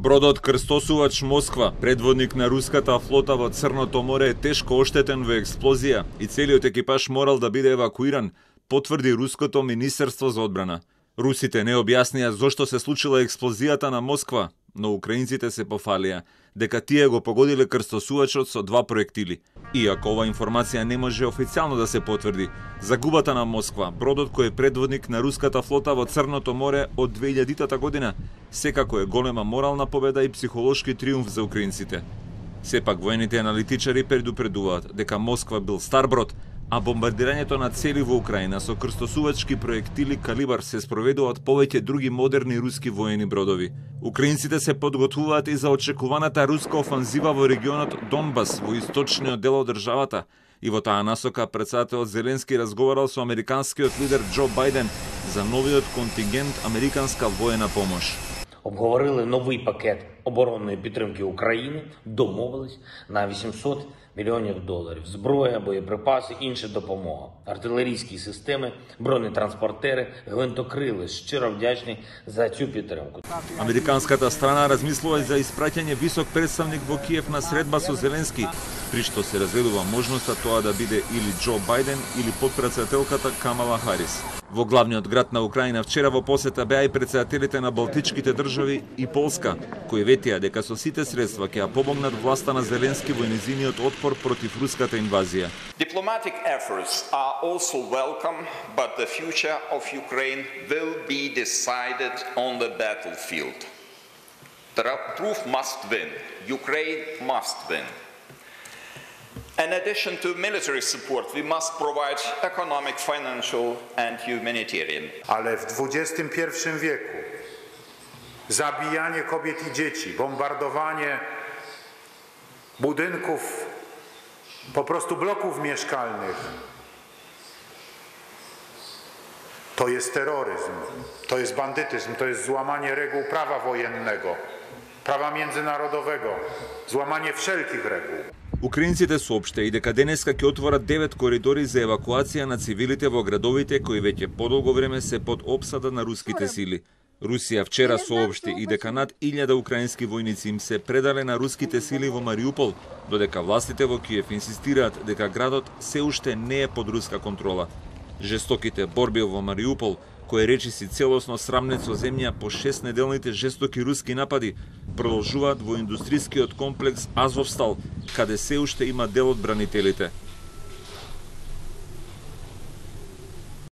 Бродот крстосувач Москва, предводник на руската флота во Црното море, е тешко оштетен во експлозија и целиот екипаж морал да биде евакуиран, потврди руското министерство за одбрана. Русите не објаснија зошто се случила експлозијата на Москва, но украинците се пофалија дека тие го погодиле крстосувачот со 2 проектили. Иако ова информација не може официјално да се потврди, загубата на Москва, бродот кој е предводник на руската флота во Црното море од 2000 година, секако е голема морална победа и психолошки триумф за украинците. Сепак воените аналитичари предупредуваат дека Москва бил стар брод, а бомбардирањето на цели во Украина со крстосувачки проектили калибар се спроведува од повеќе други модерни руски воени бродови. Украинците се подготвуваат и за очекуваната руска офанзива во регионот Донбас, во источниот дел од државата, и во таа насока претседателот Зеленски разговарал со американскиот лидер Џо Бајден за новиот контингент американска воена помош. Обговорили новий пакет оборонної підтримки України, домовились на $800 мільйонів, зброя, боєприпаси, інша допомога, артилерійські системи, бронетранспортери, гвинтокрили. Щиро вдячні за цю підтримку. Американската страна размислува за испраќање висок представник во Киев на средба со Зеленски, при што се разгледува можноста тоа да биде или Џо Бајден или подпредседателката Камала Харис. Во главниот град на Украина вчера во посета беа и председателите на Балтичките држави и Полска, кои ветија дека со сите средства ќе ја помогнат власта на Зеленски во незиниот отпор против руската инвазија. Diplomatic efforts are also welcome, but the future of Ukraine will be decided on the battlefield. The truth must win. Ukraine must win. In addition to military support, we must provide economic, financial and humanitarian. Ale w XXI wieku zabijanie kobiet i dzieci, bombardowanie budynków, po prostu bloków mieszkalnych, to jest terroryzm, to jest bandytyzm, to jest złamanie reguł prawa wojennego, prawa międzynarodowego, złamanie wszelkich reguł. Украинците соопште и дека денеска ќе отворат 9 коридори за евакуација на цивилите во градовите кои веќе подолго време се под опсада на руските сили. Русија вчера соопшти и дека над 1000 украински војници им се предале на руските сили во Мариупол, додека властите во Киев инсистираат дека градот се уште не е под руска контрола. Жестоките борби во Мариупол, кој речиси целосно срамнет со земја по 6-неделните жестоки руски напади, продолжуваат во индустрискиот комплекс Азовстал, каде се уште има дел од бранителите.